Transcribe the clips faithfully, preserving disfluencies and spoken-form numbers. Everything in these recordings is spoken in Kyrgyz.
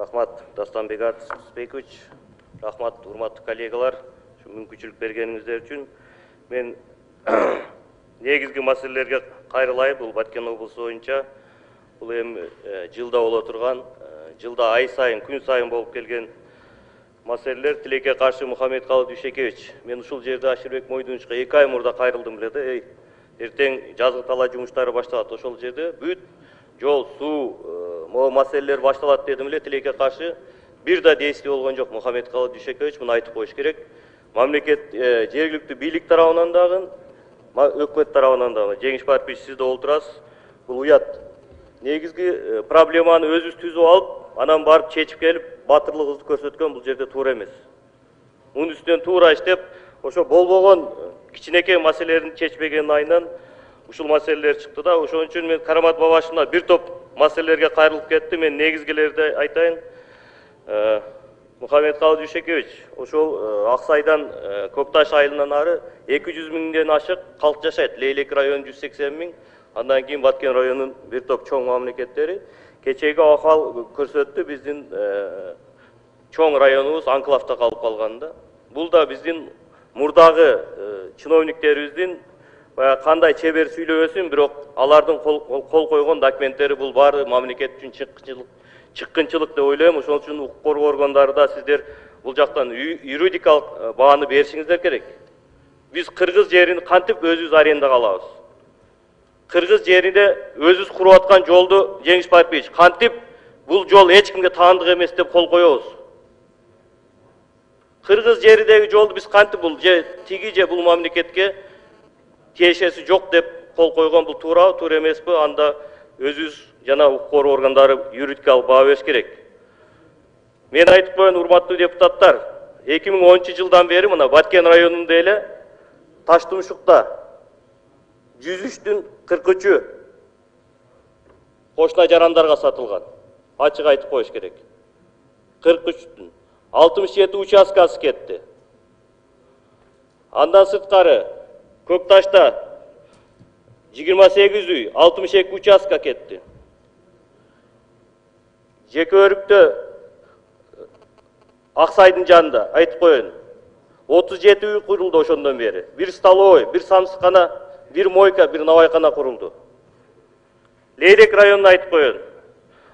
Рахмат, Дастанбек Артысбекович. Рахмат, урматтуу коллегалар. Мүмкүнчүлүк бергениңиздер үчүн. Мен негизги маселелерге кайрылайын. Бул Баткен облусу боюнча бул эми жылда боло турган, жылда ай сайын, күн сайын болуп келген маселелер. Тилекке каршы Мухаммедкалый Дүйшекевич. Мен ушул жерде Ашырбек Мойдуновичке эки ай мурда кайрылдым эле да. Эй, эртең жазгы талаа жумуштары башталат. Ошол жерде бүт жол, суу, могу маселелер башталат дедим эле. Тилекке каршы бир да действий болгон жок. Мухаммедкалый Дүйшекевич муну айтып коюш керек. Мамлекет жергиликтүү бийлик тарабынан дагы, өкмөт тарабынан дагы. Жеңиш Парпич, сиз да олтурасыз. Бул уят. Негизги проблеманы өзүбүз түзүп алып, анан барып чечип келип, батырлыгыбызды көрсөткөн бул жерде туура эмес. Мунун үстүнөн туура иштеп, ошо болбогон кичинекей маселелерин чечпегенин айынан ушул маселелер чыкты да. Ошон үчүн мен Карамат Бабашевна бир топ маселелерге кайрылып кетти. Мен негизгилерди айтайын. Мухаммедкалый Дүйшекевич, ошол Аксайдан Көкташ айылынан ары эки жүз миңден ашык калк жашайт. Лейлек району жүз сексен миң, андан кийин Баткен районунун бир топ чоң мамлекеттери. Кечеги акал көрсөттү, биздин чоң районубуз анклавда калып калганда. Бул да биздин мурдагы чиновниктерибиздин кандай чебер сүйлөбөсүн, бирок алардын кол койгон документтери бул баары мамлекет үчүн чыккынчылык чыккынчылык деп ойлойм. Ошон үчүн укук коргоо органдары да сиздер бул жактан юридикалык бааны беришиңиздер керек. Биз кыргыз жерин кантип өзүбүз арендага алабыз? Кыргыз жеринде өзүбүз куруп аткан жолду Жеңиш Парпич кантип бул жол эч кимге таандык эмес деп кол коебуз? Кыргыз жеридеги жолду биз кантип бул же тиги же бул мамлекетке тиешеси жок деп кол койгон, бул туурабы, туура эмеспи? Анда өзүбүз жана укук коргоо органдары юридикалык баа бериш керек. Мен айтып коеюн, урматтуу депутаттар, эки миң онунчу жылдан бери мына Баткен районунда эле Таштумшукта жүз үчтүн кырк үчү кошуна жарандарга сатылган. Ачык айтып коюш керек. кырк үчтүн алтымыш жети участкасы кетти. Андан сырткары Көкташта жыйырма сегиз үй, алтымыш эки участка кетти. Жеке өрүктө Аксайдын жанында айтып коеюн, отуз жети үй курулду ошондон бери. Бир столовой, бир самсыкана, бир мойка, бир навайкана курулду. Лейрек районуна айтып коеюн,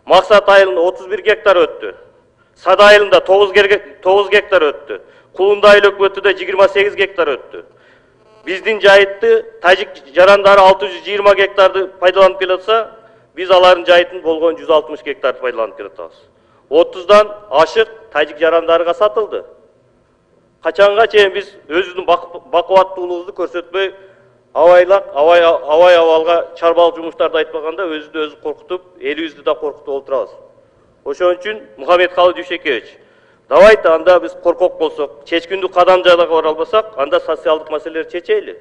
Максат айылында отуз бир гектар өттү. Сада айылында тогуз гектар өттү. Кулунда айыл өкмөтүдө жыйырма сегиз гектар өттү. Биздин жайытты тажик жарандары алты жүз жыйырма гектарды пайдаланып келатса, биз алардын жайытын болгон жүз алтымыш гектарды пайдаланып келатабыз. отуздан ашык тажик жарандарга сатылды. Качанга чейин биз өзүбүздүн бакубаттуулугубузду көрсөтпөй, абайлак, абай абай абалга чарбалык жумуштарды айтпаганда өзүбүздү өзү коркутуп, элибизди да коркутуп отурабыз. Ошон үчүн Мухаммедкалый Дүйшекевич, давайте анда биз коркок болсок, чечкиндүү кадам жайларга бара албасак, анда социалдык маселелерди чечели.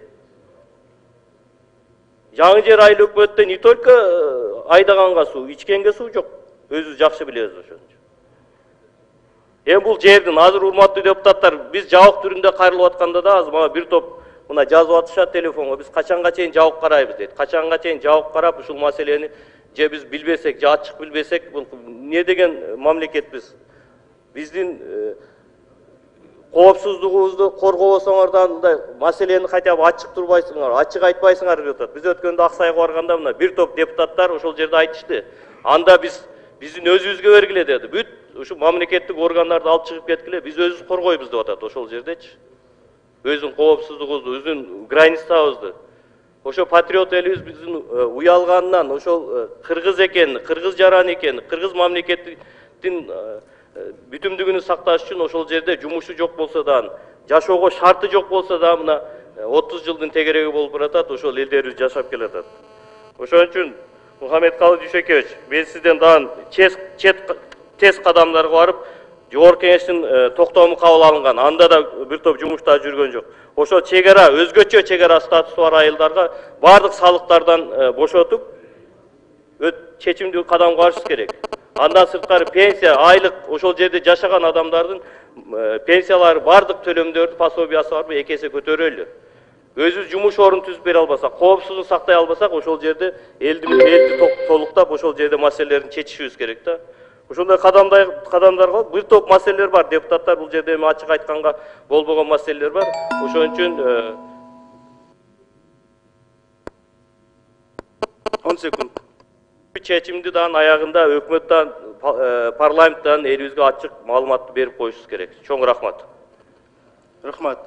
Жаңы жер айыл өкмөттө не только айдаганга суу, ичкенге суу жок. Өзүбүз жакшы билебиз ошону. Эми бул жердин азыр урматтуу депутаттар, биз жабык түрүндө кайрылып атканда да азыр мага бир топ мына жазып атышат телефонго, биз качанга чейин жабык карайбыз дейт. Качанга чейин жабык карап ушул маселени же биз билбесек, же ачык билбесек, бул эмне деген мамлекетпиз? Биздин коопсуздугубузду коргобосоңордан мындай маселени хотя бы ачык турбайсыңар, ачык айтпайсыңар деп атат. Биз өткөндө Аксайга барганда мына бир топ депутаттар ошол жерде айтышты. Анда биз биздин өзүбүзгө бергиле деди. Бүт ушу мамлекеттик органдарды алып чыгып кеткиле, биз өзүбүз коргойбуз деп атат ошол жердечи. Өзүнүн коопсуздугубузду, өзүнүн границабызды. Ошо патриот элибиз биздин уялганынан, ошол кыргыз экенин, кыргыз жаран экенин, кыргыз мамлекеттин бүтүмдүгүнү сакташ үчүн ошол жерде жумушу жок болсо да, жашоого шарты жок болсо да, мына отуз жылдын тегереги болуп баратат, ошол элдерибиз жашап келатат. Ошон үчүн Мухаммедкалый Дүйшекевич, мен сизден дагы тез кадамдарга барып, Жогорку Кеңештин токтому кабыл алынган, анда да бир топ жумуштар жүргөн жок. Ошо чегара, өзгөчө чегара статусу бар айылдарга бардык салыктардан бошотуп, чечимдүү кадамга барыш керек. Андан сырткары пенсия, айлык ошол жерде жашаган адамдардын пенсиялары, бардык төлөмдөрдү, пособиясы барбы эки эсе көтөрөлү. Өзүбүз жумуш орун түзүп бере албасак, коопсуздук сактай албасак, ошол жерде элди элди толуктап ошол жерде маселелерин чечишибиз керек да. ошондой кадамдай кадамдарга бир топ маселелер бар. Депутаттар бул жерде эми ачык айтканга болбогон маселелер бар. Ошон үчүн он секунд. Чечимди дан аягында өкмөттөн, парламенттен элибизге ачык маалыматты берип коюшубуз керек. Чоң рахмат. Рахмат.